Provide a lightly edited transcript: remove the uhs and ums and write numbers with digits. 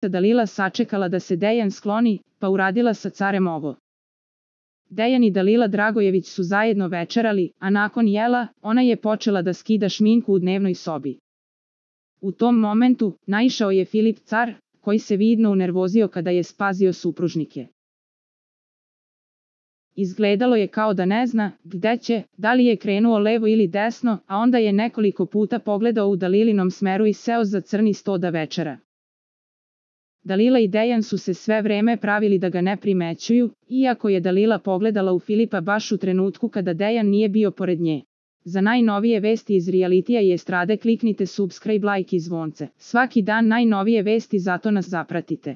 Dalila sačekala da se Dejan skloni, pa uradila sa carem ovo. Dejan i Dalila Dragojević su zajedno večerali, a nakon jela, ona je počela da skida šminku u dnevnoj sobi. U tom momentu, naišao je Filip car, koji se vidno unervozio kada je spazio supružnike. Izgledalo je kao da ne zna gde će, da li je krenuo levo ili desno, a onda je nekoliko puta pogledao u Dalilinom smeru i seo za crni sto da večera. Dalila i Dejan su se sve vreme pravili da ga ne primećuju, iako je Dalila pogledala u Filipa baš u trenutku kada Dejan nije bio pored nje. Za najnovije vesti iz realitija i estrade kliknite subscribe, like i zvonce. Svaki dan najnovije vesti, zato nas zapratite.